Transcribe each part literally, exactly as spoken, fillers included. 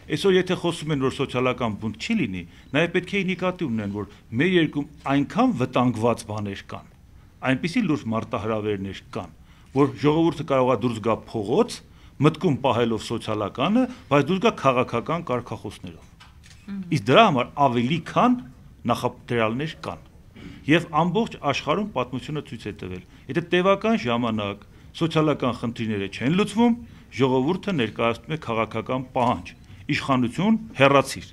Այսօր եթե խոսում են, որ սոցիալական բունտ չի լինի, նաև պետք է նկատի ունեն, որ մեր երկրում այնքան վտանգված բաներ կան, այնպիսի լուրջ մարտահրավերներ կան, որ ժողովուրդը կարող է դուրս գա փողոց, մտքում պահելով սոցիալականը, բայց դուրս գա քաղաքական կարգախոսներով։ Իսկ դրա համար ավելի քան նախադրյալներ կան։ Եվ ամբողջ աշխարհում պատմությունը ցույց է տվել, եթե տևական ժամանակ սոցիալական խնդիրները չեն լուծվում, ժողովուրդը ներկայացնում է քաղաքական պահանջ, իշխանություն հեռացիր։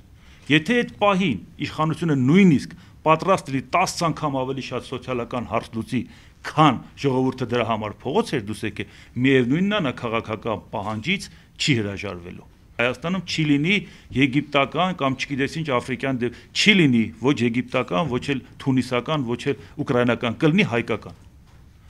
Եթե այդ պահին իշխանությունը նույնիսկ պատրաստ լինի տասը անգամ ավելի շատ սոցիալական հարց լուծի, քան ժողովուրդը դրա համար փողոց էր դուս եկել, միևնույնն է նա քաղաքական պահանջից չի հրաժարվելու։ Հայաստանում չի լինի եգիպտական կամ չգիտես ինչ աֆրիկյան դեպք, չի լինի ոչ եգիպտական, ոչ էլ թունիսական, ոչ էլ ուկրաինական, կլինի հայկական։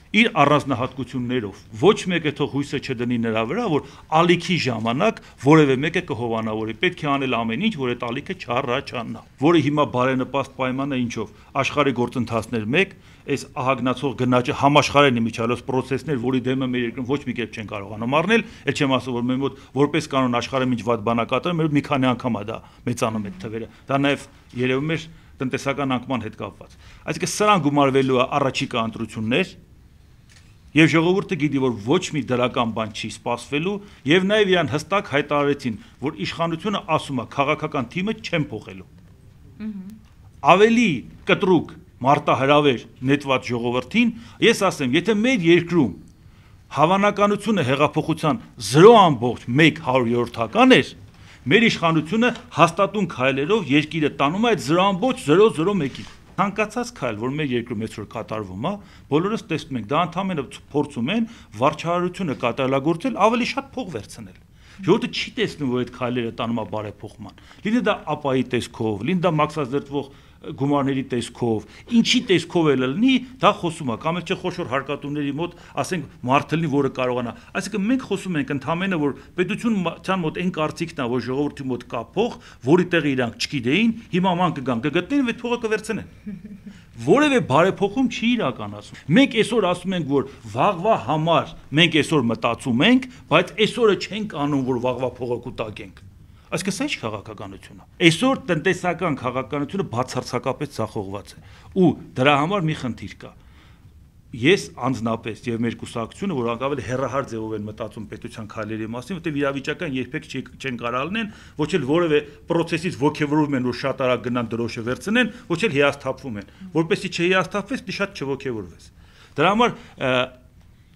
Իր առանձնահատկություններով, ոչ մեկը թող հույսը չդնի նրա վրա, որ ալիքի ժամանակ որևէ մեկը կհովանավորի, պետք է անել ամեն ինչ, որ այդ ալիքը չառաջանա, որը հիմա բարենպաստ պայմանը ինչով, աշխարհի գործընթացներ մեկ, այս ահագնացող գնաճը համաշխարհային միջալոց process-ներ, որի դեմը մեր երկրում ոչ մի կերպ չեն կարողանում առնել, էլ չեմ ասում, որ մեր մոտ որպես կանոն աշխարհը ինչ վատ բանակատարը, մեր մի քանի անգամ է դա մեծանում այդ թվերը, դա նաև երևում է տնտեսական անկման հետ կապված։ Այսինքն սրան գումարվելու է առաջիկա ընտրություններ, եւ ժողովուրդը գիտի, որ ոչ մի դրական բան չի սպասվելու, եւ նաեւ իրան հստակ հայտարարեցին, որ իշխանությունը ասում է քաղաքական թիմը չեն փոխելու։ Ավելի կտրուկ մարտահրավեր նետված ժողովրդին, ես ասեմ, եթե մեր երկրում հավանականությունը հեղափոխության զրո ամբողջ մեկ հարյուրորդական էր, մեր իշխանությունը հաստատուն քայլերով երկիրը տանում է այդ զրո ամբողջ զրո զրո մեկին։ Ցանկացած քայլ, որ մեր երկրում այսօր կատարվում է, բոլորս տեսնում ենք, դա ընդհանրապես փորձում են վարչարարությունը կատարելագործել, ավելի շատ փող վերցնել։ Ժողովուրդը չի տեսնում, որ այդ քայլերը տանում է բարեփոխման։ Լինի դա ապայի տեսքով, լինի դա մաքսազերծվող գումարների տեսքով, ինչի տեսքով էլ լինի, դա խոսում է, կամ էլ չէ խոշոր հարկատուների մոտ, ասենք, մարդը լինի, որը կարողանա։ Այսինքն մենք խոսում ենք ընդհանրապես, որ պետության մոտ այն կարծիքն է, որ ժողովրդի մոտ կա փող, որի տեղը իրանք չգիտեին, հիմա ման կգան, կգտնեն եւ այդ փողը կվերցնեն։ Որևէ բարեփոխում չի իրականացում։ Մենք այսօր ասում ենք, որ վաղվա համար մենք այսօր մտածում ենք, բայց այսօրը չենք անում, որ վաղվա փողը կուտակենք։ Այսինքն սա ինչ քաղաքականություն է։ Այսօր տնտեսական քաղաքականությունը բացարձակապես ցախողված է։ Ու դրա համար մի խնդիր կա։ Ես անձնապես եւ մեր կուսակցությունը, որ անկավել հերահար ձևով են մտածում պետության քայլերի մասին, որտեղ իրավիճական երբեք չեն կարող լինեն, ոչ էլ որևէ process-ից ողջևորում են, որ շատ արագ գնան դրոշը վերցնեն, ոչ էլ հիասթափվում են, որպեսզի չհիասթափվես, դի շատ չողջևորվես։ Դրա համար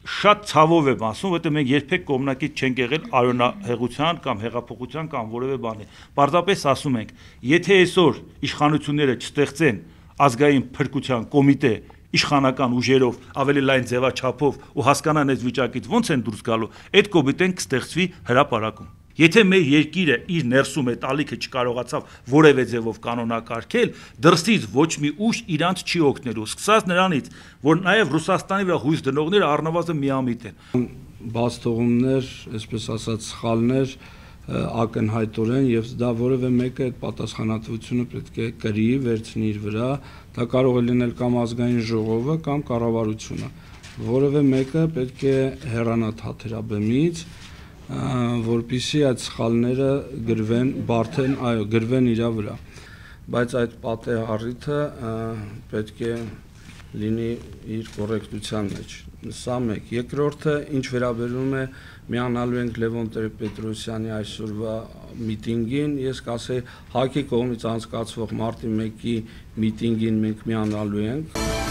շատ ցավով եմ ասում, որտեղ մենք երբեք կողմնակից չենք եղել արյունահեղության կամ հեղափոխության կամ որևէ բանի։ Պարզապես ասում ենք, եթե այսօր իշխանությունները չստեղծեն ազգային փրկության կոմիտե իշխանական ուժերով ավելի լայն ձևաչափով ու հասկանան այս վիճակից ոնց են դուրս գալու, այդ կոմիտեն կստեղծվի հրապարակում։ Եթե մեր երկիրը իր ներսում այդ ալիքը չկարողացավ որևէ ձևով կանոնակարգել, դրսից ոչ մի ուժ իրանց չի օգնելու, սկսած նրանից, որ նաև Ռուսաստանի վրա հույս դնողները առնվազն միամիտ են։ Բաց թողումներ, այսպես ասած, սխալներ ակնհայտորեն եւ դա որևէ մեկը այդ պատասխանատվությունը պետք է կրի, վերցնի իր վրա, դա կարող է լինել կամ ազգային ժողովը կամ կառավարությունը։ Որևէ մեկը պետք է հեռանա թաթերաբեմից, որպեսզի այդ սխալները գրվեն, բարդեն, այո, գրվեն իր վրա, բայց այդ պատեհառիթը պետք է լինի իր կոռեկտության մեջ։ Սա մեկ։ Երկրորդը, ինչ վերաբերում է միանալու ենք Լևոն Տեր-Պետրոսյանի այսօրվա միտինգին, ես կասեի ՀԱԿ-ի կողմից անցկացվող մարտի մեկի միտինգին մենք միանալու ենք։